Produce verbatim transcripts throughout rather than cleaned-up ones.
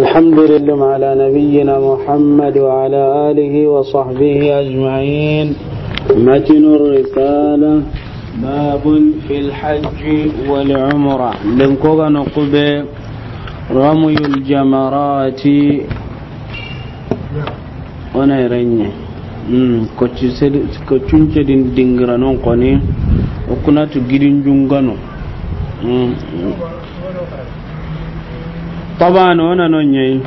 الحمد لله على نبينا محمد وعلى آله وصحبه أجمعين. متن الرسالة. باب في الحج والعمرة. Lenko ga noqu be رمي الجمرات. Wona irenye. Mm, ko ci sedi, ko cunce din dingiranon koni. O kuna tu gidin jungano. Mm. Taban, wona no nyei.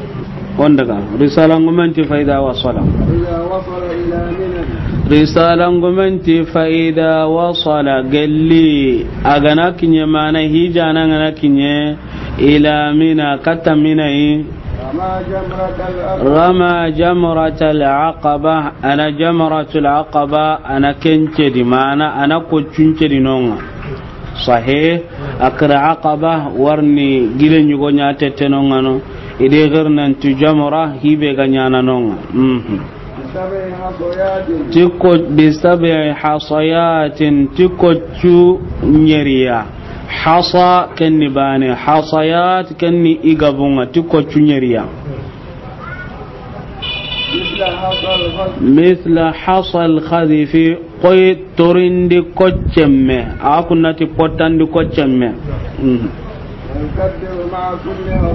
Wondaga. Risala ngumenti فإذا وصل. إذا وصل إلى منى. Risala ngumenti فإذا وصل. Gelli. Agana kinye mana hijana ngana kinye. إلى منى, katta Mina yi. رمى جمرة العقبة. رمى جمرة العقبة, ana جمرة العقبة, ana kence di, mana ana ko cunce di nonga. Sahih, akra Aqaba, warni gile nyugo nya tete nonga no. Ide gernantu jamra, hibe ga nyana nonga. Mhm. Ti ko, بسبع حصيات, ti ko cu nyeriya. Hasa kenni bane, hasayat kenni igabunga, ti ko cu nyeriya. مثل حصى الخذف, koy torindi koccemme, a kunnati pottandi koccemme. Mhm.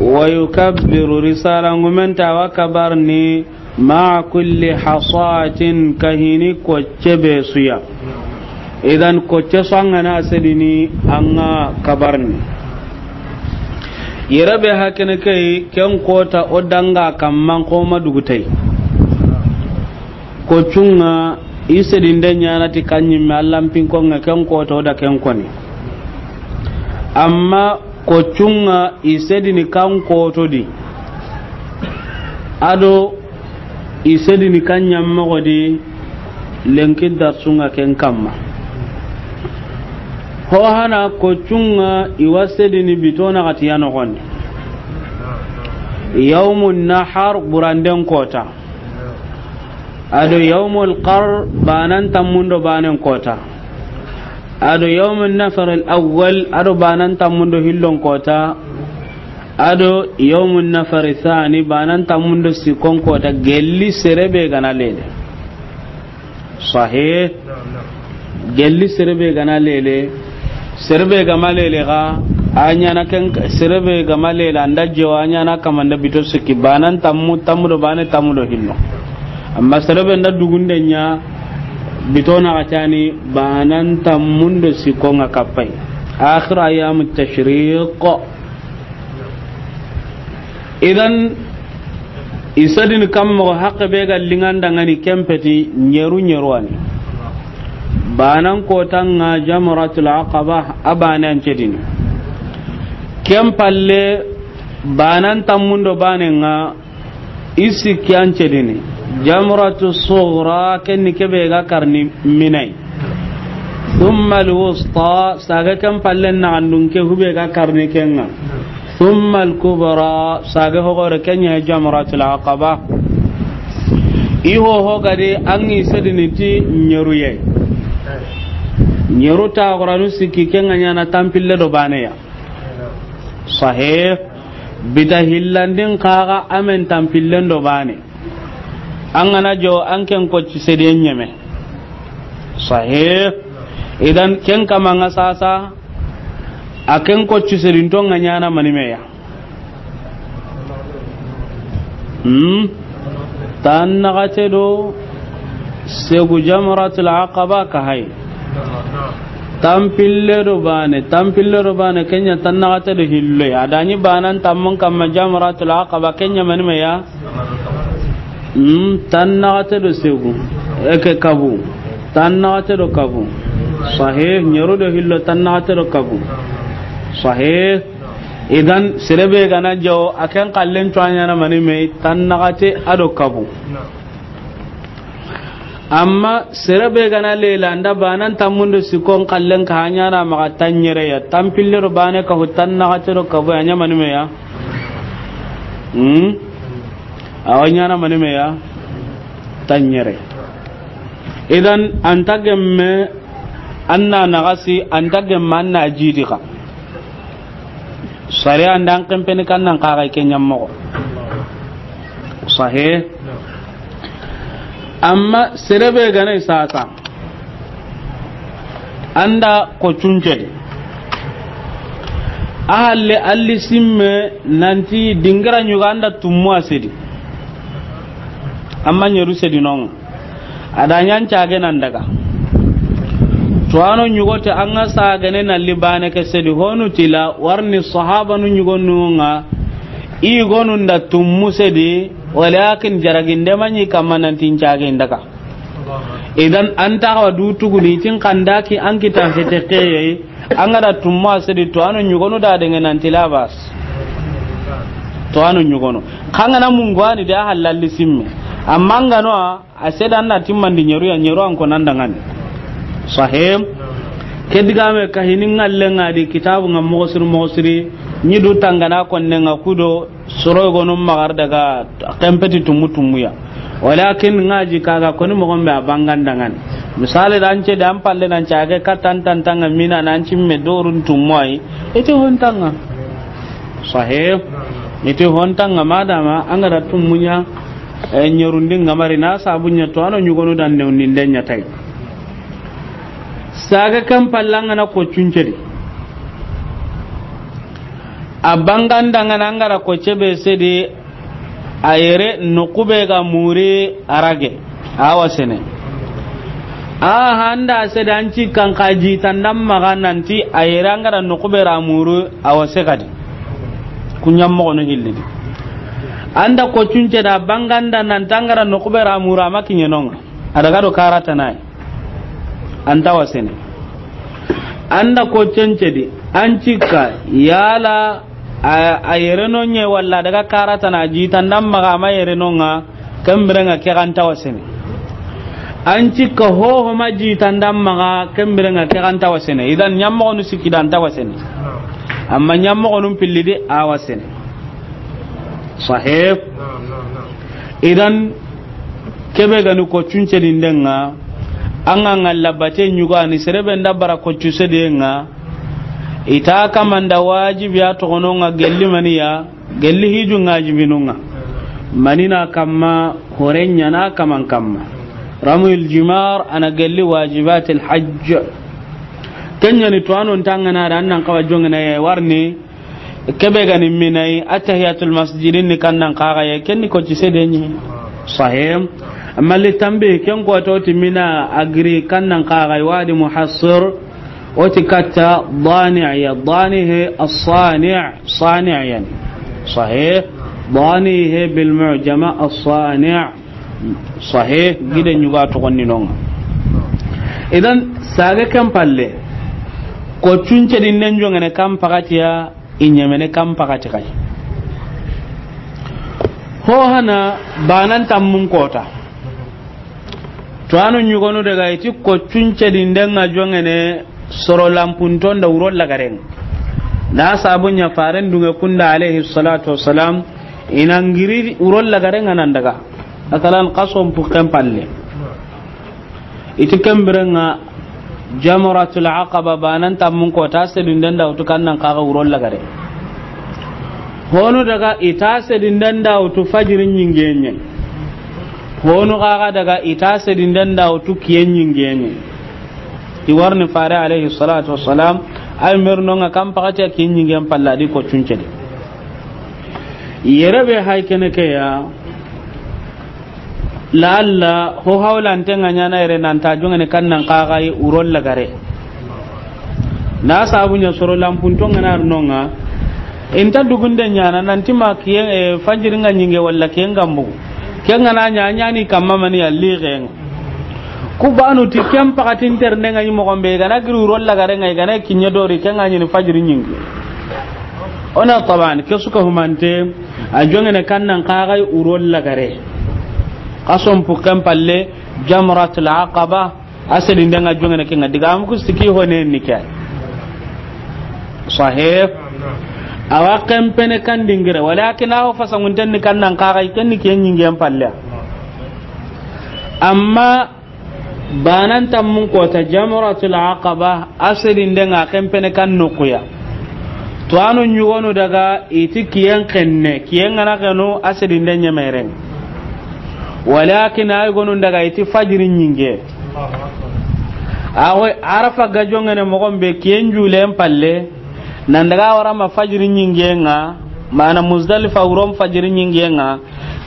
ويكبر, risala ngumenta wa kabarni مع كل حصاة, kahini kocce be suya. Idan kocce su angana sedini anga kabarni. Yere be hakene kai ken kota o danga kamman koma dugutai. Kocunga i sedinde nyana ti kanyimme allan pinkonga ken kota o da ken koni. Amma kocunga i sedini kan koto di. Ado i sedini kan nyammogo di lenki darsunga ken kamma. Ho hana kocunga i wa sedini bitona gatiya nogondi. Yawmun nahar buranden kota. Ado yawmul qar banan tammundo banen kota. Ado yawmun nafar al awwal, ado banan tammundo hillon kota. Ado yawmun nafar thani, banan tammundo sikon kota, gelli serebe gana lele. Sahih. Gelli serebe gana lele. Serebe gama lele ga, a nyana ken, serebe gama lele, anda jewa, a nyana kamanda bito sikki, banan tammu, tammu do bane, tammu do hillo. Amma serebe nda dugunde nya, bito na gacani, banan tammundo sikon ga kappai. Akhir ayyam tashriq. Idan, i sedini kammogo hakke be ga linganda ngani kempeti nyeru nyeru ani. Banan kotanga jamratul aqaba a bane an cedini. Ken palle banan tammundo bane nga i sikki an cedini. Jamratu sughra kenni kebe ga karni minai. Thumma alwusta, saga ken pallen na andun ke hube ga karni kenga. Thumma alkubra, saga hogore kenya jamratul aqaba. I ho ho gade an i sedini ti nyeru ye. Nyeru ta goranu sikki kenga nyana tampille do bane ya. Sahih. Bita hillandin kaga amen tampillen do bane. An gana jo an ken kocci sediyen nyeme. Sahih. Idan ken kamanga sasa a ken kocci sedin to nga nyana manimeya. Hmm. Tan nagate do segu jamratul aqaba ka hay. Tampille do bane, tampille do bane kenya tan nagate do hillo. Adani banan tammun kamma jamratul aqaba kenya manimeya. Hmm, tan nagate do segu. Eke kabu. Tan nagate do kabu. Sahih, nyeru do hillo tan nagate do kabu. Sahih. Idan serebe gana jawo a ken kallen to anyana manime tan nagate ado kabu. Amma serebe gana lela nda banan tammundo sikon kallen ka anyana maga tanyere ya tampille do bane ka hu tan nagate do kabu anya manimeya. Hmm. Awa nyana manimeya tanyere. Idan anta gemme anna nagasi anta gemme anna jidi ka. Sariya nda an kempeni kan nan kaga ke ɲammoxo. Sahe. Amma sere be ga na i sasa, an da ko cuncedi. A halle alli simme nanti dingira ɲuga an da tummu a sedi. Amma ɲeru sedi non. A da ɲan cage nan daga. To ano ɲugo te an ga sagene na libane ke sedi honu tila warni sahabanu ɲugo nunga. I gonu nda tummu sedi, walakin jaraginde maɲi kamma nanti n cage n daga. Idan an ta wa du tuguni tin kandaki an kita hete keye. An ga da tumma sedi to ano ɲugonu da denge nanti labas. To ano ɲugonu. Kangana mungwani da halalli simme. Amma ngano a sedi an na timmandi ɲeru ya, ɲeru an ko nan dangani. Sahim. Ke digame ka hini ngalle ngadi kitabu nga moxo siri moxo siri. Ɲi du tangana konne nga kudo. Soro gonu magar daga kempeti tumu tumuya. Walakin ngaji kaga koni mogon be a bangan dangan. Misali da an ce da an palle nan cage katan tantanga mina nan cimme dorun tumuai. Iti hontanga. Sahih. Iti hontanga madama an ga da tumunya. E, ɲerundi ngamari na sabunya to ano ɲugonu dan ne undi ndenya tai. Saga kan pallanga na ko cuncedi. A bangandangana an ga da ko cebe sedi a yere noqu be ga muri a rage a wa sene. A handa sedi an ci kan ka jitandan maga nanti a yere an ga da noqu be ra muri a wa se kadi. Kuɲan moxonu hillidi. An da ko cunce da banganda nanti an ga da noqu be ra muri a ma kiɲenonga. A daga do karatanayi. An ta wasene. An da ko cencedi, an cikka, yala a, a yereno ɲe walla daga karatana jitandan maga ma yerenonga, kembirenga ke an ta wasene. An cikka hoho ma jitandan maga, kembirenga ke an ta wasene. Idan ɲammoxonu sikki da an ta wasene. Amma ɲammoxonu pillidi a wasene. Sahih. Idan kebe gani ko cuncedinden ŋa, an ga ŋalla bate ɲugani serebe nda bara ko cusediyen ŋa, i ta kamanda wajibiya toxonon ŋa gelli maniya, gelli hijun ŋa wajibinun ŋa. Manina kamma, horen ɲana kaman kamma. Ramyul jimar ana gelli wajibatil hajj. Ken ɲani to anon tangana da an nan kawa jongana ye warni. Kebe gani minai attahiyatul masjidin ni kannan kaga ye kenni ko ci sedenyi. Sahih. Amma li tambi ken ko to ti mina agri kannan kaga wadi muhassir. O ti katta dani ya dani he as-sani', sani' yani. Sahih. Dani he bil mu'jama as-sani'. Sahih. Gide ɲuga to gonni nonga. Idan sage kan palle ko cuncedinden jongene kan pakatiya. I ɲemene kan pakati kay. Ho hana banan tammun kota. To anu ɲugonu daga iti ko cuncedinden ŋa jongene soro lampunton da wuro lagaren. Na sabu ɲa faren dunge kunda alayhi salatu wassalam ina ngiri wuro lagaren ŋa nan daga. Masalan kason pukken palle. Iti kembirenga jamratul aqaba banan tammun ko ta sedinden da wutu kannan kaga wuro lagare. Honu daga ita sedinden da wutu fajiri ɲingenye. Honu kaga daga ita sedinden da wutu kiyen ɲingenye. I warni fare alayhi salatu wassalam ay mernonga kan pakati kiyen ɲingen palladi ko cuncedi. Yere be hay kene ke ya. Laalla ho hawlanten ŋa ɲana yere nanta jongene kannan kaga yi wuro lagare. Na sabu ɲa soro lampunton ŋa na arnonga. Inta dugunde ɲana nanti ma kiyen e fanjirin ŋa ɲinge walla kiyen gambu. Ken ŋa na ɲa ɲani kamma mani yalli gen. Ku banu ti ken pakatin ternde ŋa yi mogon be gana giri wuro lagare ŋa gana kinye dori ken ŋa ɲini fajiri ɲinge. Ona taban ke suka humante. A jongene kannan kaga yi wuro lagare. Kason pukken palle jamratul aqaba. A sedinden ŋa jongene kenga diga am ku siki hone ni ke. Sahih. Awa kempene kan dingire walakin awo fasangunten ni kannan kaga yi kenni ke ɲingen palle. Amma banan tammun kota jamratul aqaba a sedinden ŋa kempene kan nokuya. Tuwaanu ɲugonu daga i ti kiyen xenne, kiyen ga na xenu a sedinde ɲemeren. Walakin ay gonu daga i ti fajiri ɲinge. Awo Arafa ga jongene moxon be kiyen julen palle, nan daga wara ma fajiri ɲinge ŋa, mana Muzdalifa wuron fajiri ɲinge ŋa,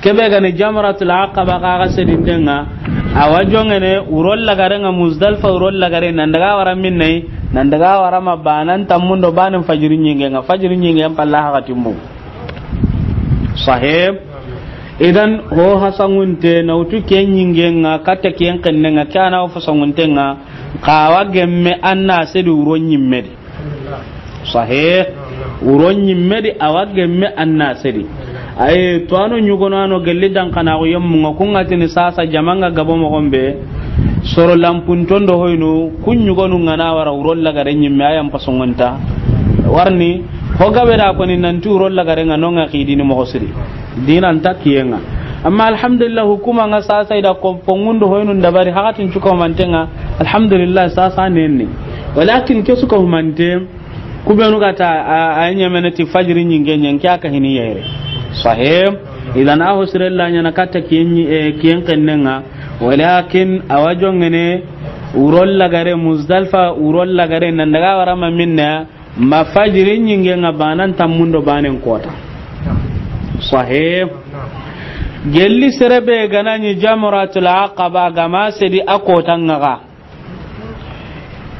kebe ga ni Jamratul Aqaba xa ga sedinde ŋa, awa jongene wuron lagare ŋa, Muzdalifa wuron lagare, nan daga wara minne, nan daga wara ma banan tammundo banen fajiri ɲinge ŋa, fajiri ɲinge palla haxatimbo. Sahib. Idan ho hasangunte na wutu ke ɲinge ŋa, katta kiyen xenne ŋa, ke ana ho fasangunte ŋa, xa wa gemme anna sedi wuron ɲimme di. Sahih. Wuron ɲimme di awa gemme anna sedi. Ay, tuwaanu ɲugono ano gelli dan kana ko yemmu ŋa, kun ŋa tini sasa jamanga gabo moxon be. Soro lampunton do hoyno, kun ɲugonu ŋa na wara wuron lagare ɲimme, ayan pasongonta. Warni, ho gabe da koni nanti wuron lagare ŋa no ŋa xidini moxo siri. Dinan ta kiyen ŋa. Amma alhamdulillah, hukuma ŋa sasa i da ko pongundo hoynun dabari hakatin cuko manten ŋa. Alhamdulillah, sasa nenni. Walakin ke suka humante, ku benu ga ta a, a ɲemene ti fajiri ɲinge ɲen ke aka hini yere. Sahih. Idan a ho sire la ɲana katta kiyen, eh, kiyen xenne ŋa. Walakin awa jongene wuron lagare, Muzdalifa wuron lagare, nan daga wara ma minne, ma fajiri ɲinge ŋa banan tammundo banen kota. Sahih. Gelli sere be ga na ɲi Jamratul Aqaba ga ma sedi a kota ŋa ga.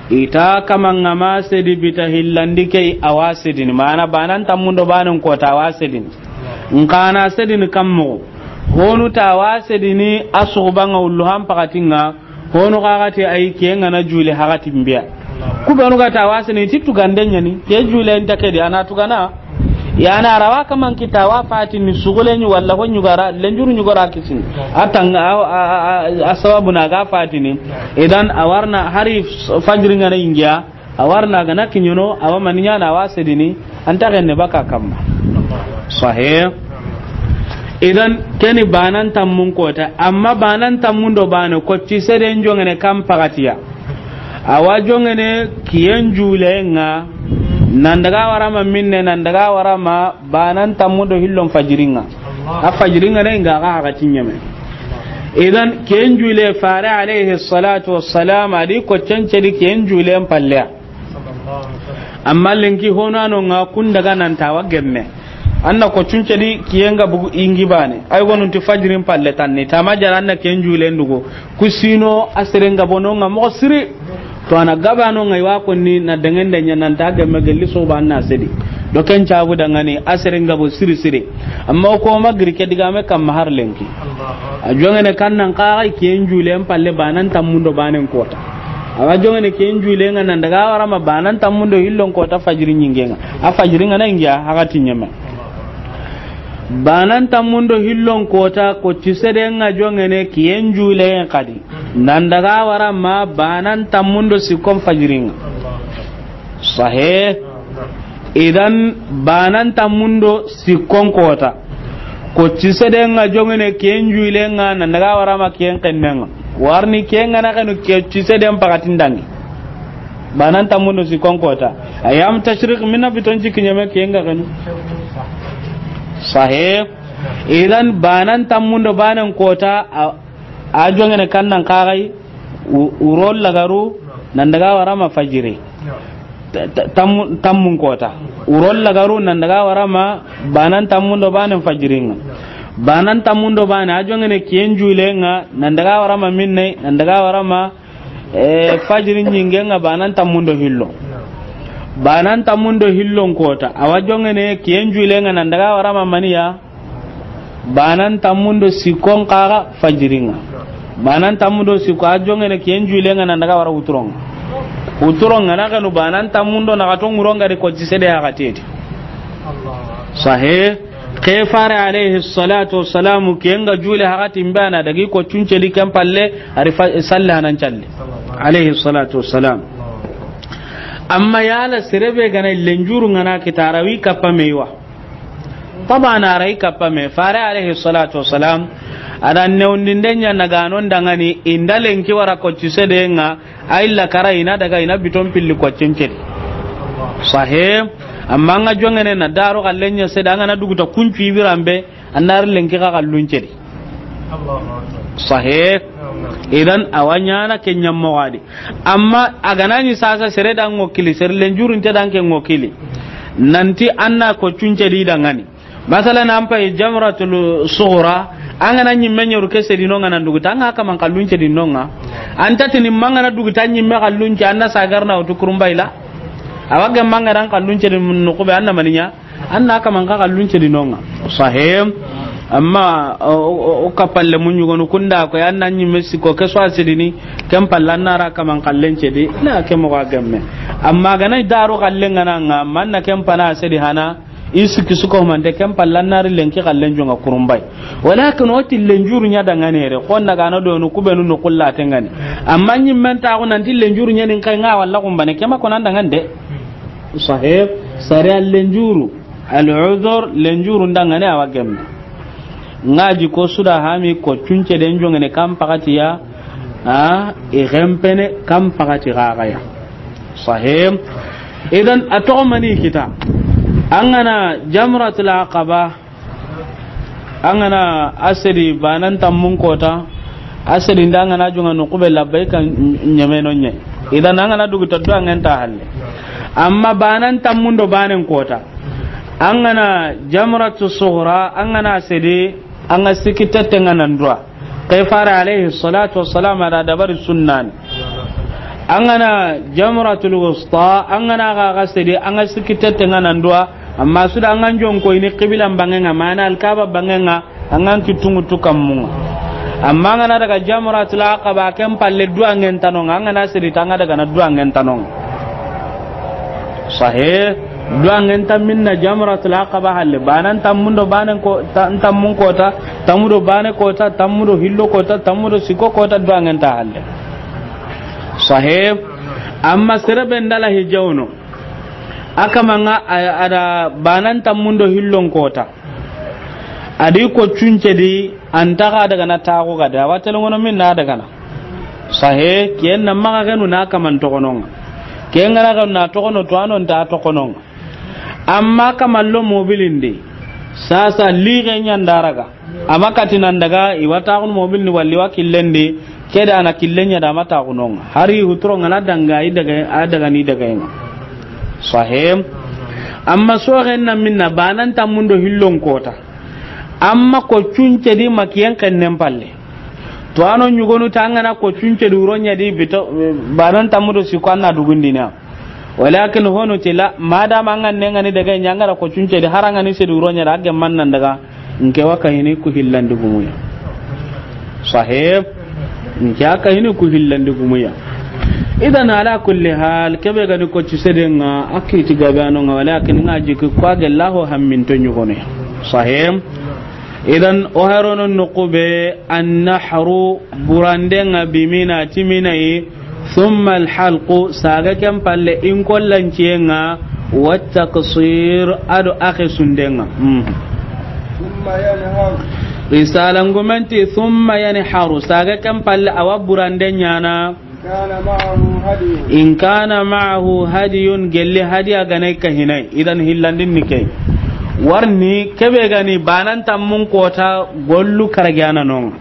I ta kama ŋa ma sedi bita hillandi ke awa sedini. Mana banan tammundo banen kota awa sedini. N xa na sedini kammo. Honu ta awa sedini a suxuba ŋa wullu han pakati ŋa. Hono xaxati ay ke ŋa na jule hakatin biya. Ku benu ga ta wasini ti tugande ɲani, ke jule nta ke di, ana tugana. Ya na rawa kaman kita wa fatini sugule ɲu walla ko ɲugara, lenjuru ɲugara kisini. A tanga, a, a, a, a sababu na ga fatini. Idan a warna hari fajiri ŋa na ingiya. A warna ga na kiɲono, awa maniɲa na wa sedini, anta genne baka kamma. Sahih. Idan keni banan tammun kota, amma banan tammun do bane ko ti seden jongene kam pagatiya. Awa jongene kiyen jule ŋa, nan daga wara ma minne, nan daga wara ma banan tammun do hillon fajiri ŋa. A fajiri ŋa ne ŋa ga ga tinyame. Idan kiyen jule fare alayhi salatu wassalam a di ko cence di kiyen jule mpalle. Amma lenki hono ano ŋa kun daga nan tawa gemme. Anna ko cunce di kiyen ga bugu ingi bane. Ay gonun ti fajirin palle tanni. Tama jara anna ken jule ndugo. Kusino a sere nga bono ŋa moxo siri. To ana gabano ŋa i wa konni na dangende ɲa nan ta gemme gelli soba anna sedi. Do ken cabu dangani a sere nga bo siri siri. Amma ko ma giri ke digame kamma har lenki. A jongene kan nan kaxa kiyen julen palle banan tammun do banen kota. Awa jongene kiyen julen ŋa nan daga wara ma banan tammun do hillon kota fajiri ɲingen ŋa. A fajiri ŋa na ingiya hakatin ɲeme. Banan tammun do hillon kota ko ti seden ŋa jongene kiyen julen kadi. Nan daga wara ma banan tammun do sikkon fajiri ŋa. Sahih. Idan banan tammun do sikkon kota. Ko ti seden ŋa jongene kiyen julen ŋa nan daga wara ma kiyen kennen ŋa. Warni kiyen ŋa na kenu ke ti seden pakatin dangi. Banan tammun do sikkon kota. Ayam tashriq minna biton jikki ɲeme kiyen ŋa kenu. Sahih. Idan banan tammun do banen kota a, a jongene kan nan kaxay. U-, wuro lagaru nan daga wara ma fajiri. Ta-, ta-, tammu-, tammun kota. Wuro lagaru nan daga wara ma banan tammun do banen fajiri ŋa. Banan tammun do bane a jongene kiyen julen ŋa nan daga wara ma minne nan daga wara ma, eh, fajiri ɲingen ŋa banan tammun do hillo. Banan tammun do hillon kota. Awa jongene kiyen julen ŋa nan daga wara ma maniya. Banan tammun do sikkon kaxa fajiri ŋa. Banan tammun do sikko a jongene kiyen julen ŋa nan daga wara wuturon ŋa. Wuturon ŋa na kenu banan tammun do na kato ŋuron ŋa di ko ti sede hakatedi. Sahih. Ke fare alayhi salatu wassalamu kiyen ga jule hakatin bana dagi ko cunce di ken palle ari fa-, salli hanan calli. Alayhi salatu wassalam. Amma yala serebe gana lenjuru ŋa na kitarawi kappa meiwa. Tabana ray kappa me fare alayhi salatu wassalam. Ada newndinde ɲa na ganon dangani inda lenki wara ko ti sede ŋa. Ay la kara ina daga ina biton pilli ko cence di. Sahih. Amma an ga jongene na daro xallen ɲa sedi, an ga na duguta kuncu i biran be, an na ri lenki xa xallun cedi. Sahih. Idan a wa ɲaana ke ɲammoxo a di. Amma a ga na ɲi sasa sere da ŋo kili, sere lenjurunte da ke ŋo kili. Nanti an na ko cunce di dangani. Masalan, an pay jamratul sughra, an ga na ɲimme ɲeru ke sedi no ŋa nan duguta, an ga kaman xallun cedi no ŋa. An ta tini ma an ga na duguta ɲimme xallun ce, an na sagar na wutu kurumbayla. A wa gemma an ga na xallun cedi noxu be, an na mani ɲa. An na kaman xa xallun cedi no ŋa. Sahih. Amma o, o, o kapalle mun ɲugonu kunda ko ya, an na ɲimme siko ke so a sedini, ken palle an na ra kaman xallen cedi, na ke moxo a gemme. Amma ga na daro xallen ga na ŋa, man na ken pana sedi hana, i sikki suko mante, ken palle an na ri lenki xallen jonga kurumbay. Walakin o ti lenjuru ɲa dangane re, xo na ga na do no kubenu no kulla tengani. Amma ɲimmen ta ko nanti lenjuru ɲa nin kay ŋa walla kumbane, ke ma ko nan dangande. Sahih, sariya lenjuru, al-udhur, lenjuru ndangane a wa gemme. Ŋa ji ko suda hami ko cunce den jongene kan pakatiya, a, i gempene kan pakati gagaya. Sahih. Idan a toxo mani kita. An ga na jamratul aqaba, an ga na a sedi banan tammun kota, a sedi nda an ga na jonga noxu be labbayka ɲameno ɲe. Idan an ga na duguta duwangen ta halle. Amma banan tammun do banen kota, an ga na jamratu sughra, an ga na sedi, an ga sikki tette ŋa nan duwa. Ke fare alayhi salatu wassalam a da dabari sunnani. An ga na jamratul wusta, an ga na ga ga sedi, an ga sikki tette ŋa nan duwa. Amma suda an ga jonko ini qiblan bangenga, mana alkaba bangenga, an ga kitungu tukammunga. Amma an ga na daga jamratul aqaba, ken palle duwangen ta no ŋa, an ga na sedi ta an ga daga na duwangen ta no ŋa. Sahih. Duwangen tammin na jamratul aqaba halle. Banan tammun do banen ko, ta-, tammun kota, tammu do bane kota, tammu do hillo kota, tammu do siko kota, duwangen ta halle. Sahih. Amma sere be ndala hijawno, a kaman ŋa a, a da banan tammun do hillon kota. A di ko cunce di, an ta ga daga na taxu ga da, a wa tele ŋono min na daga na. Sahih, ken na maxa genu na kaman toxono ŋa. Ken ga na genu na toxono, to a no nta toxono ŋa. Amma kaman lo mobilin di, sasa lixe ɲa nda raga. Amma kati nan daga, i wa taxunu mobilin di walla i wa killen di, ke da na killen ɲa da a ma taxuno ŋa. Hari huturo ŋa na danga, i daga, a daga ni daga ŋa. Sahih. Amma soxen na minna, banan tammun do hillon kota. Amma ko cunce di ma kiyen xennen palle. To a no ɲugonu ta an ga na ko cunce di wuro ɲa di bito, banan tammu do siko an na dugundina. Walakin hono tela, madama an ga ne ŋa ni daga ɲa an ga na ko cunce di, har an ga ni sedi wuro ɲa da, a gemman nan daga, nke wa kahini ku hillandi gumuya. Sahih. Nke a kahini ku hillandi gumuya. Idan ala kulli hal, kebe ga ni ko ci seden ŋa, a kiti gabe a no ŋa, walakin ŋa jiki ko a gella ho hamminto ɲugone. Sahih. Idan o harono noxu be, annahru, burande ŋa bi Mina, ti Mina yi, thumma alhalqu, saga ken palle in kollanciye ŋa, wa taqsir, a do a xesunde ŋa. Hmm. ثم ينحر. Risala ngumenti, thumma yanharu, saga ken palle a wa burande ɲaana. كان معه هدي. In kana ma'ahu hadiyun, gelli hadiya ga na i kahinai, idan hillandin ni ke. Warni kebe ga ni banan tammun kota gollu karagana no ŋa.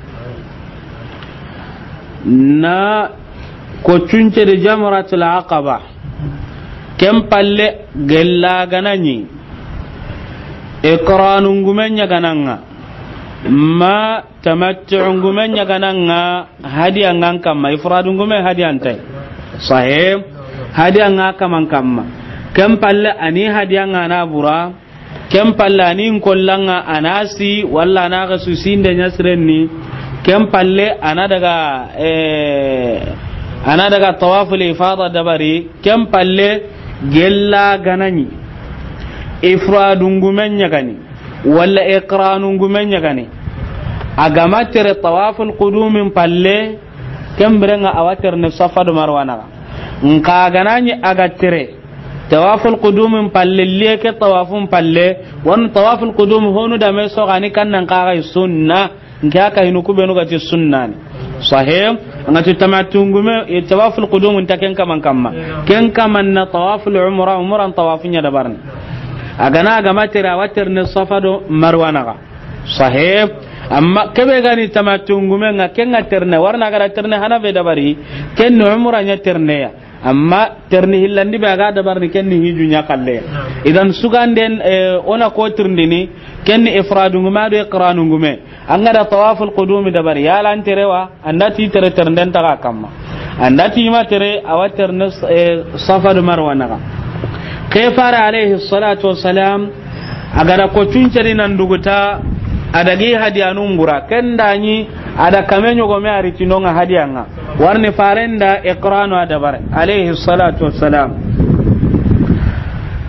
Na ko cunce di jamratul aqaba. Ken palle gella ga na ɲi. Iqranu ngume ɲa ga na ŋa. Ma tamattu'u ngume ɲa ga na ŋa, hadiya ŋa an kamma, ifradu ngume hadiya nta yi. Sahih. Hadiya ŋa kaman kamma. Ken palle a ni hadiya ŋa na bura. Ken palle a ni nkollan ŋa a na si, walla a na xesu sinde ɲa siren ni. Ken palle a na daga, eh, a na daga tawaful ifada dabari. Ken palle gella ga na ɲi. Ifradu ngume ɲa ga ni. Walla iqranu ngume ɲa ga ni. A ga ma tere tawaful qudumin palle, ken biren ŋa a wa tere ne Safa do Marwa na ŋa. Nka ga na ɲi a ga tere tawaful qudumin palle, liye ke tawafun palle, wani tawaful qudum honu da me so ga ni kan nan ka ga sunna. Nke a kahinu ku benu ga ti sunnani. Sahih. An ga ti tamattu ngume, e, tawaful qudum nta ken kaman kamma. Ken kaman na tawaful umra, umran tawafun ɲa dabarini. A ga na a ga ma tere, a wa terene Safa do Marwa naxa. Sahih. Amma ke be ga ni tamattu ngume ŋa, ken ŋa terene, wara na a ga da terene hana be dabari, ken ni umra ɲa terene ya. Amma terene hillandi be a ga dabarini, ken ni hiju ɲa xalle. Idan suganden, eh, o na ko tirindini, ken ni ifradu ngume do iqranu ngume. An ga da tawaful qudumi dabari, yala an tere wa, an da ti tere, terenden ta ga kamma. An da ti ma tere, a wa terene, eh, Safa do Marwa naxa. Ke fare alayhi salatu wassalam, a ga da ko cunceri nan duguta, a da gi hadiyanu mbura. Ken da ɲi, a da kame ɲogome a ri ti no ŋa hadiya ŋa. Wara ni faren da iqranu a dabari, alayhi salatu wassalam.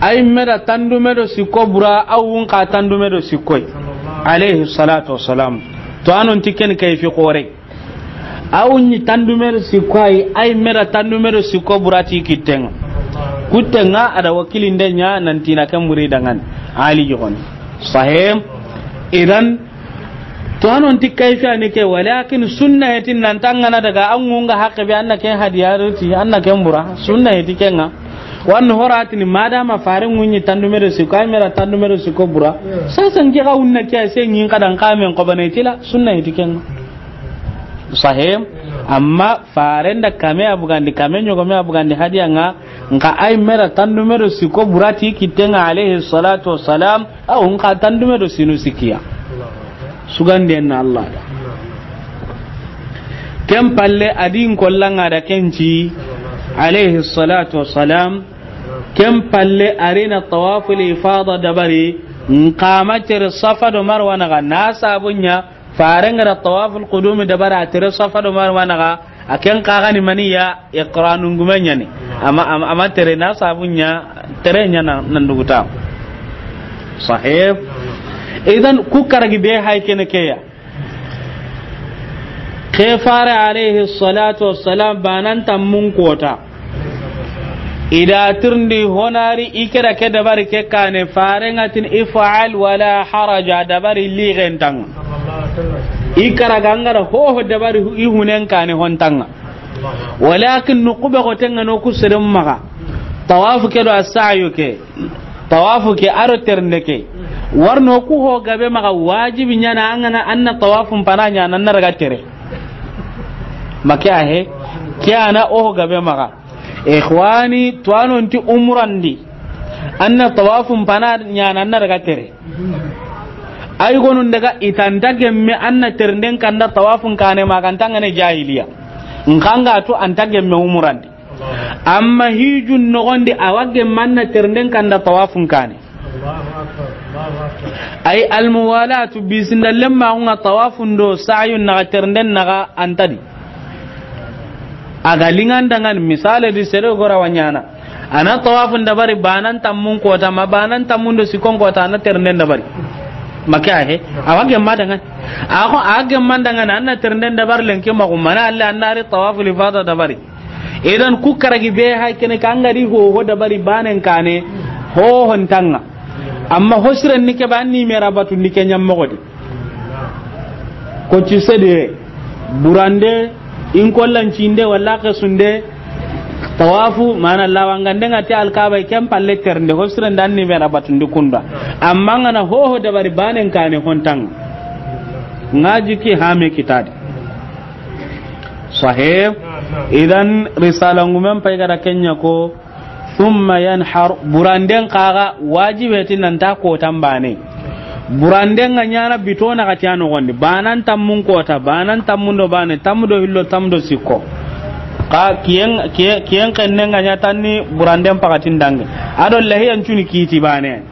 Ay me da tandume do sikko bura, a wun xa tandume do sikko yi. Alayhi salatu wassalam. To a non ti ken kayfi xoore. A wun ɲi tandume do sikko yi, ay me da tandume do sikko bura ti kitten ŋa. Kutten ŋa a da wakilinde ɲa nan ti na ken buri danŋa ni. Ali joxon. Sahih. Idan, to a non ti kayfi a ni ke, walakin sunna ya ti nan ta ŋa na daga an ŋun ŋa haqqe be, an na ken hadiya do ti, an na ken bura. Sunna ya ti ken ŋa. Wara ni horatini, madama faren ŋun ɲi tandume do sikko, ay me da tandume do sikko bura. Sasa n ke ga wunna ke ya, se ŋin ka dan ka men ko bane ti la, sunna ya ti ken ŋa. Sahih. Amma faren da kame a bugandi, kame ɲogome a bugandi hadiya ŋa, nxa ay me da tandume do sikko bura ti kitten ŋa alayhi salatu wassalam, a wun xa tandume do sinu sikki ya. Suganden na Allah da. Ken palle a di n kollan ŋa da ken ci, alayhi salatu wassalam. Ken palle a ri na tawaful ifada dabari, nxa ma tere Safa do Marwa naxa, na sabun ɲa, faren ga da tawaful qudumi dabari, a tere Safa do Marwa naxa, a ken xa ga ni mani ya, iqranu ngume ɲa ni. Amma, amma, amma tere na sabun ɲa, tere ɲa na, nan duguta. Sahih. Idan ku karagi be hay kene ke ya. Ke fare alayhi salatu wassalam, banan tammun kota. I da tirindi honari i ke da ke dabari ke kane, faren ŋa ti ni if'al wala haraja, dabari ligen ta ŋa. I karaga an ga da hoho dabari hu-, i hunen kane hon ta ŋa. Walakin nuqube xoten ŋa no ku seren maxa. Tawafu ke do as-sa'yu ke. Tawafu ke a do terende ke. Wara no ku ho gabe maxa, wajibi ɲa na an ga na an na tawafun pana ɲa na an na daga tere. Ma ke ya he, ke ya na o ho gabe maxa. Ikhwani, to a non ti umran di, an na tawafun pana ɲa na an na daga tere. Ay gonun daga i ta nta gemme an na terenden kanda tawafun kane ma, ga nta ŋa ne jahiliya. Nxa an ga tu an ta gemme umran di. Amma hijun noxon di a wa gemma an na terenden kanda tawafun kane. Ay almuwalatu, bisinda lemma ŋa tawafun do sa'yun naxa, terenden naxa an ta di. A ga liŋan danŋa ni, misale di sere gora wa ɲaana. A na tawafun dabari, banan tammun kota, ma banan tammun do sikkon kota, a na terenden dabari. Ma ke ya he, a wa gemma danŋa ni. A xo, a gemma danŋa ni, an na terenden dabari lenki ma xumana, alle an na ri tawaful ifada dabari. Idan ku karagi be hay kene ke an ga di hoho dabari banen kane, hohon ta ŋa. Amma ho siren ni ke ba ni me ra batundi ke ɲa moxo di. Ko ci sede, burande, in kollancinde, wala xesunde, tawafu, mana lawangande ŋa ti Alkaba, ken palle terende, ho siren da ni me ra batundi kunda. Amma an ga na hoho dabari banen kane hon ta ŋa. Ŋa jiki hame kitadi. Sahih. Idan risala ngumen pay ga da ken ɲa ko, thumma yanhar, buranden xa ga wajibe ti nan ta kotan bane. Buranden ga ɲaana bito naxati a noxon di. Banan tammun kota, banan tammun do bane, tammu do hillo, tammu do sikko. Xa kiyen, kiyen, kiyen xennen ga ɲa tanni buranden paxatin danŋe. A do lahiyan cuni kiti bane.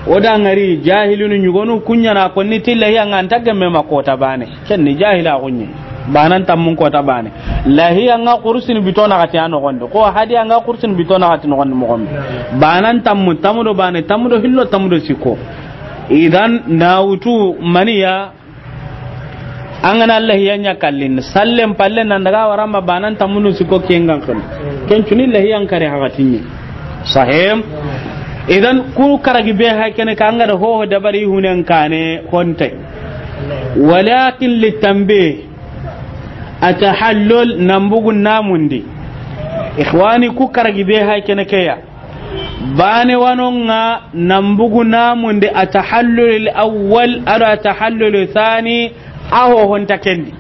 O da ŋari jahilunu ɲugonu ku ɲa na konni ti lahiya ŋa an ta gemme ma kota bane. Ken ni jahila xunɲe. Banan tammun kota bane. Lahiya ŋa kursin bito naxati a noxon di. Ko hadiya ŋa kursin bito naxati noxon di moxon di. Banan tammu, tammu do bane, tammu do hillo, tammu do sikko. Idan na wutu maniya. An ga na lahiya ɲa kallin, sallen palle nan daga wara ma banan tammun do sikko ken ga xen. Ken cuni lahiyan kare haxatinni. Sahih. Idan ku karagi be hay kene ke an ga da hoho dabari hunen kane honte. Walakin litanbih, atahallul, nan bugu namundi. Ikhwani, ku karagi be hay kene ke ya. Baane wanonga nan bugu namundi a tahallulil awwal, ado a tahallulil thani, a hohonta kendi.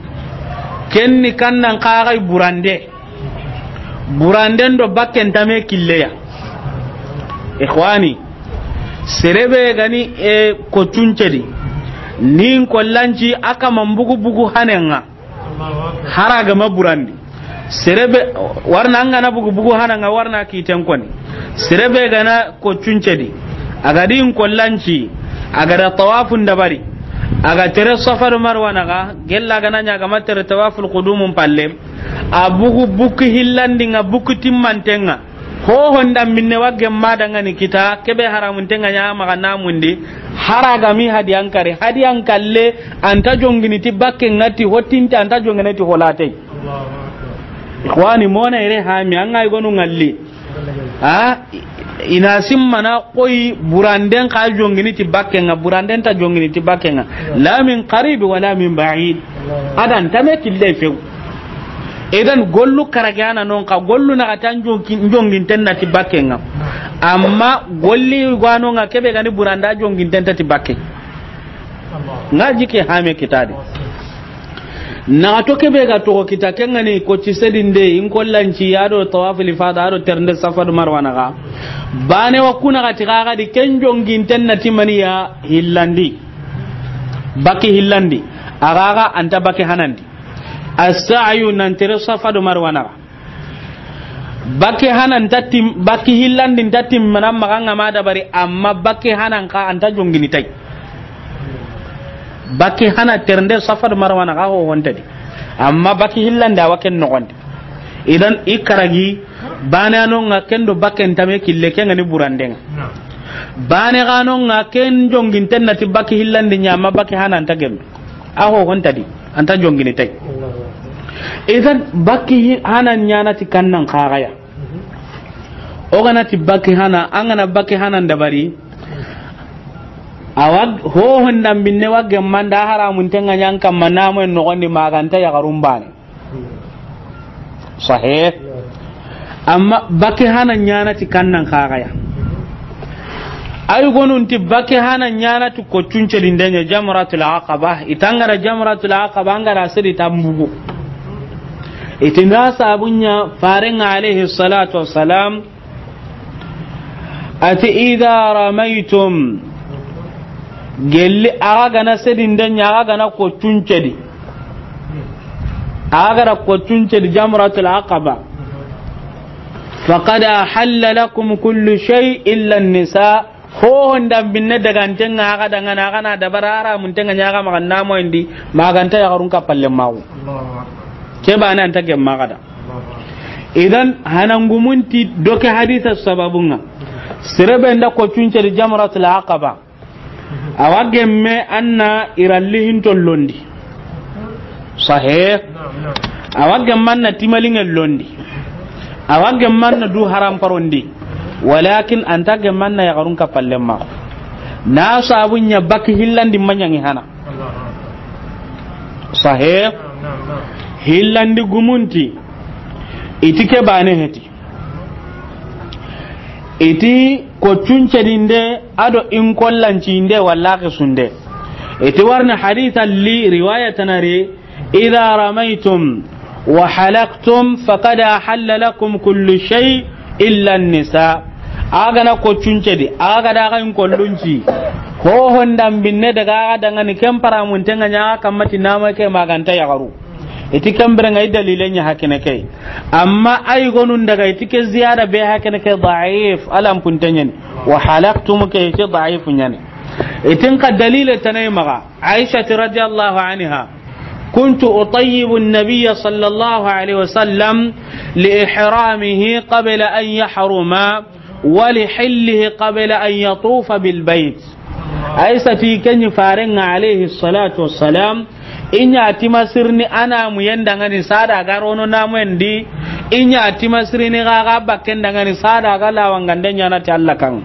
Kenni kannan kaxay burande. Buranden do bakken tame killeya. Ikhwani, serebe gani e ko cuncedi. Nin kollanci a kaman bugu bugu hanenga. Hara gama burandi. Serebe warna angana bugu bugu hananga warna kiten koni. Serebe gana ko cuncedi. Agadi in kollanci. Agada tawafun dabari. Aga tere Safa do Marwa naga. Gella gana nya gama tere tawaful qudumun palle. A bugu buku hillandi nga buku timmantenga. Hohonda minne wa gemma dangani kita, kebe haramuntenga nya maga namundi, hara gami hadiyan kari, hadiyan kalle, anta jongini ti bakke ngati, hotinti anta jongini ti holatei. Ikhwani, mona ire hami, anga igonu ngalli. Ha? Ina simmana koyi buranden ka jongini ti bakke nga, buranden ta jongini ti bakke nga. La min qarib wa la min ba'id. Adan tame kille few. Idan gollu karage ana non ka gollu na kata njongi-, njonginten na ti bakke nga. Amma golli gwano nga kebe gani buranda jonginten ta ti bakke. Nga jike hame kitadi. Na to kebe ga to kita kengani ko ci sedinde in kollanci ado tawaful ifada ado ternde Safa do Marwa naga. Bane wa kuna ga ti ga di ken jonginten na ti maniya hillandi. Baki hillandi. Agaga anta baki hanandi. As-sa'yu nan tere Safa do Marwa naga. Bakke hana nta tim-, bakke hillandi nta timmana maxa nga ma dabari, amma bakke hana nka anta jongini tay. Bakke hana ternde Safa do Marwa naga ho hontadi. Amma bakke hillandi awa ken noxondi. Idan i karagi bane ano nga kendo bakke ntame kille ke ngani burandenga. Bane gano nga ken jonginten nati bakke hillandi nya, amma bakke hana nta gemme. A ho hontadi, anta jongini tay. Idan bakki hi-, hana nyana ti kannan kagaya. O gana ti bakki hana, an gana bakki hana ndabari. Awa ho honda binne wa gemma nda haramuntenga nyan kamma namo en nogondi maganta ya garumbane. Sahih. Amma bakki hana nyana ti kannan kagaya. Ay gonun ti bakki hana nyana ti ko cunce dindenya Jamratul Aqaba. Itangara Jamratul Aqaba angara sedi tambugo. Itinda sabunya farenga alayhi salatu wassalam. Ati idha ramaytum, gelli aga gana sedindenya, aga gana ko cuncedi, aga gana ko cuncedi Jamratul Aqaba, faqad ahalla lakum kullu shay illa an-nisa. Ho honda binne daga antenga aga dangana, aga na dabara haramuntenga nyaga maga namo indi, maganta ya garun kapalle mawu. Ke bana anta gemma gada. Idan hanangumunti doke hadisa sababunga. Serebe nda ko cunceri Jamratul Aqaba. Awa gemme anna iralli hinto londi. Sahih. Awa gemma anna timalinge londi. Awa gemma anna du haram parondi. Walakin anta gemma anna ya garun kapalle ma. Na sabunya bakki hillandi manyangi hana. Sahih. Hillandi gumunti. Iti ke bane heti. Iti ko cuncedinde ado in kollancinde walla kisunde. Iti warni haditha li riwaya tanari, idha ramaytum wa halaqtum faqad ahalla lakum kullu shay illa an-nisa. Aga na ko cuncedi, aga daga in kollunci. Ho honda binne daga aga dangani ken paramuntenga nyaga kammati nama ke maganta ya garu. Iti kambere ngai dalile nya hakene kai. Amma ay gonun daga iti ke ziyada be hakene kai da'if, alam puntenyen. Wa halaqtum ke iti da'if nyane. Itin ka dalile tanay maga. Aisha radhiyallahu anha. Kuntu utayyibu an-nabiyya sallallahu alayhi wa sallam li ihramihi qabla an yahruma. Wa li hillihi qabla an yatufa bil bayt. Aisha ti kenyi farenga alayhi salatu wassalam, inya timasirni ana muyendangani sada garono namuendi, inya timasirni gaga bakkendangani sada ga lawangande nyana ti Allah kan.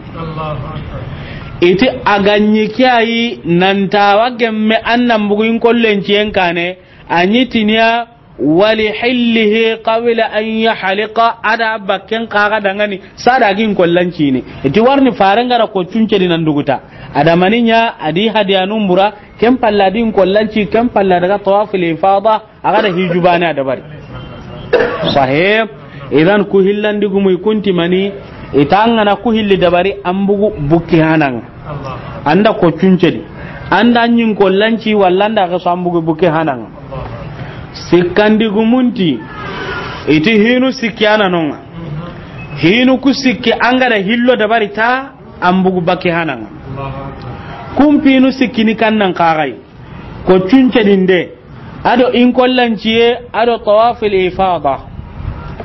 Iti aganyi kiyayi nantawa gemme annan bugu in kollenciyen kane, anyi tiniya Wali hillihi qabla an yahliqa, a da bakken kaga dangani, sa da gin kollanci ni. I ti warni faren ga da ko cunce di nan duguta. A da mani ɲa, a di hadiyanun bura, ken palla din kollanci, ken palla daga tawaful ifada, a ga da hijubane a dabari. Sahih. Idan ku hillandi gumu i kunti mani, i ta an ga na ku hilli dabari, an bugu bukki hananga. An da ko cunce di. An da ɲin kollanci walla an da ga so an bugu bukki hananga. Sikkandi gumunti, i ti hinu sikki a na nonga. Hinu ku sikki an ga da hillo dabari ta, an bugu bukki hananga. Kun pinu sikki ni kannan kagai. Ko cunce dinde. A do in kollanciye, a do tawaful ifada.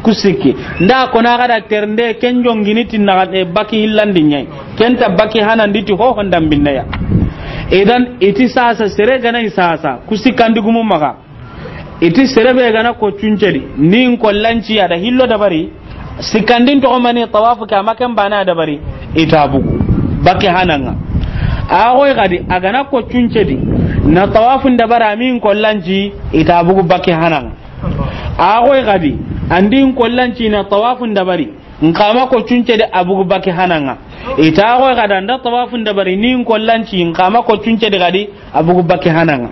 Ku sikki. Nda ko na ga da ternde, ken jongini ti na ga, e, bukki hillandi ɲai. Ken ta bukki hanandi ti ho hondan binneya. Idan, i ti sasa, sere ga na i sasa. Ku sikkandi gumu maga. I ti sere be ga na ko cunce di, ni in kollanci a da hillo dabari, sikkandin toxo mani tawafu ke, a ma ken bane a dabari, i ta bugu bukki hananga. A goy gadi, a ga na ko cunce di, na tawafun dabari, a mi in kollanci, i ta bugu bukki hananga. A goy gadi, an di in kollanci na tawafun dabari, n xa ma ko cunce di, a bugu bukki hananga. I ta goy gadi, an da tawafun dabari, ni in kollanci, n xa ma ko cunce di gadi, a bugu bukki hananga.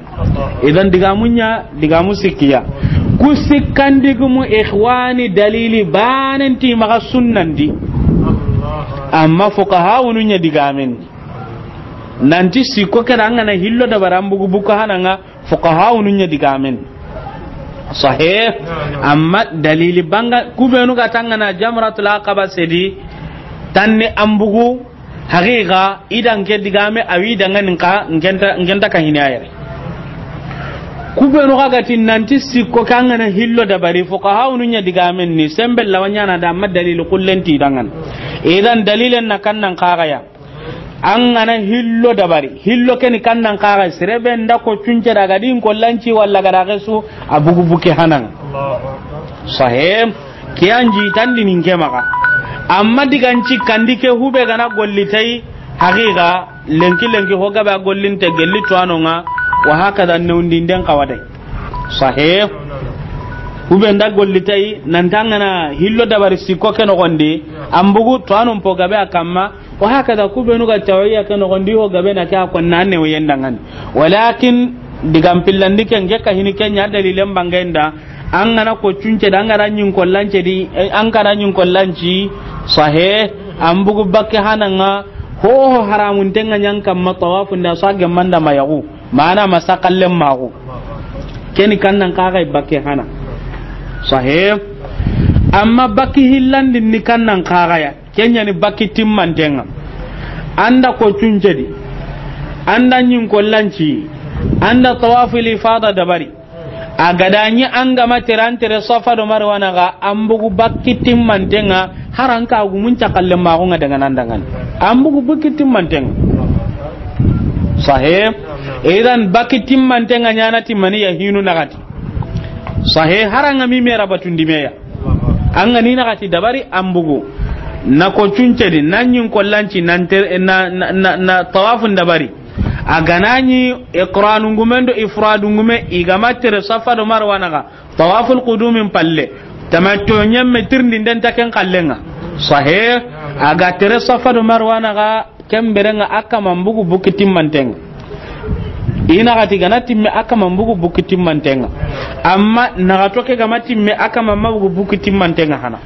Idan digamu ɲa, digamu sikkiya. Ku sikkandi gumu, ikhwani, dalili banen ti maga sunnandi. Amma fuqahawunu ɲa digamen. Nanti sikko ke da an ga na hillo dabari an bugu bukki hananga, fuqahawunu ɲa digamen. Sahih. Amma dalili banga, ku benu ga ti an ga na jamratul aqaba sedi, tanni an bugu, haqiqa, i da n ke digame, a wi dangani n xa, n ke nta, n ke nta ka hini a yere. Ku benu ga ga ti nanti sikko ke an ga na hillo dabari, fuqahawunu ɲa digamen ni, sembe lawa ɲana da, amma dalili kullen ti dangani. Idan dalilen na kannan kagaya. An ga na hillo dabari, hillo ke ni kannan kaga, sere be nda ko cunce daga di in kollanci walla ga da gesu, a bugu bukki hananga. Sahih. Ke an ji tandi nin ke maga. Amma digan sikkandi ke, hube ga na golli tay, haqiqa, lenki lenki ho gabe a gollinte gelli tuwanonga, wa hakada newndi nden kawadai. Sahih. Hube nda golli tay, nanti an ga na hillo dabari sikko ke nogondi, an bugu tuwanon po gabe a kamma, wa hakada, ku benu ga tawiya ke nogondi ho gabe na ke a konna ne wayendangani. Walakin digan pillandi ke n ke ka hini ke ɲa dalilen bangenda, an ga na ko cunce di, an ga na ɲin kollance di, eh, an ga na ɲin kollanci, sahih, an bugu bukki hananga, ho ho haramuntenga ɲan kamma tawafun da sa gemanda mayagu. Mana ma sakallen mago. Ke ni kannan kaga bukki hana. Sahih. Amma bukki hillandin ni kannan kagaya. Ke ɲa ni bukki timmantenga. An da ko cunce di. An da ɲin kollanci. An da tawaful ifada dabari. A ga da ɲi an ga ma tere an tere Safa do Marwa naga, an bugu bukki timmantenga, hari an ka gumun cakalle mago nga dangana dangana. An bugu bukki timmantenga. Sahih. Idan bukki timmantenga ɲana ti mani ya hinu nagati. Sahih, hari an ga mi mera batundi meya. An ga ni nagati dabari an bugu. Na ko cunce di, na ɲin kollanci, na, na, na, na tawafun dabari. A ga na ɲi iqranungumen do ifradungume, i ga ma tere Safa do Marwa naga, tawaful qudumin palle, tamattu ɲemme tirindi nden ta ken kallenga. Sahih. A ga tere Safa do Marwa naga, ken berenga a kama n bugu bukki timmantenga. I nagati ga na timme a kama n bugu bukki timmantenga. Amma nagato ke ga ma timme a kama ma bugu bukki timmantenga hana.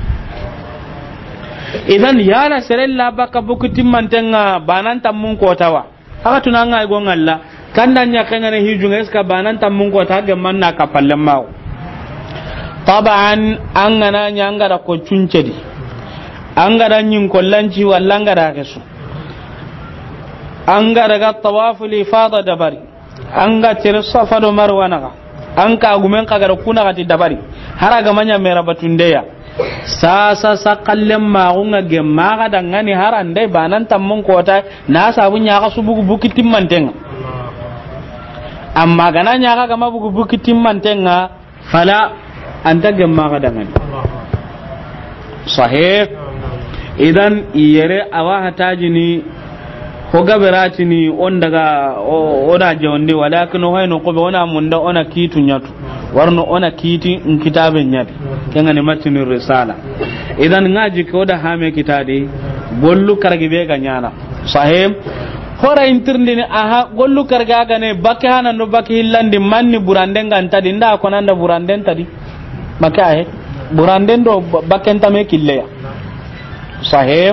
Idan yala serella baka bukki timmantenga banan tammun kotawa. Haka tuna nga go ngalla, kanda ɲa kengane hijunga, est-ce que banan tammun kota ge manna ka palle mawo? Taban, an ga na ɲa an ga da ko cunce di. An ga da ɲin kollanci walla an ga da kesu. An ga daga tawaful ifada dabari. An ga tere Safa do Marwa naga. An ka gumen ka ga da kuna gati dabari. Hari a ga ma ɲa mera batundeya. Sasa sakallen mago nga gemma ga dangani hari an da banan tammun kota na sabu ɲa ga su bugu bukki timmantenga. Amma ga na ɲa ga ga ma bugu bukki timmantenga, fala, an ta gemma ga dangani. Sahih. Idan yere awa hatajini, ho gaberatini, on daga, o, o da jawndi, walakin o hayno ko be ona munda, ona kitu ɲatu. Warno o na kiti n kitabe ɲa di. Ken ga ni matinu risala. Idan ŋa ji ko da hame kitadi. Gollu karagi be ga ɲaana. Sahih. Hora intirndini aha gollu karga ga ne bakke hanando bakke hillandi manni buranden ga nta di nda ko nanda buranden ta di. Bakke ahe. Buranden do ba-, bakken tame killeya. Sahih.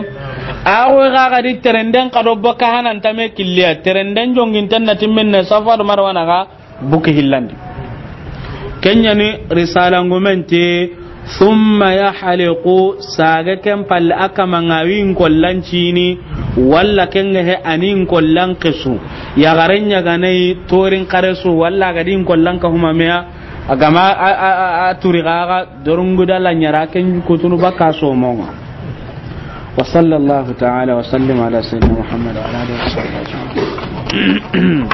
Ago ga ga di terenden ka do bakke hanan tame killeya. Terenden jonginten na timminne Safa do Marwana ga. Buki hillandi. Ken ɲa ni risala ngumente, thumma yahliqu, saage ken palle a kama ŋa wi n kollan cini, walla ken ga he a ni n kollan kesu. Yaxaren ɲa ga na yi torin xaresu, walla a ga di n kollan ka huma meya, a ga ma a, a, a, a turi ga ga dorungu da la ɲara ken kutunu baka somo ŋa. Wa sallallahu ta'ala wa sallim ala sayyidina Muhammad wa ala alihi wa sahbihi ajma'in.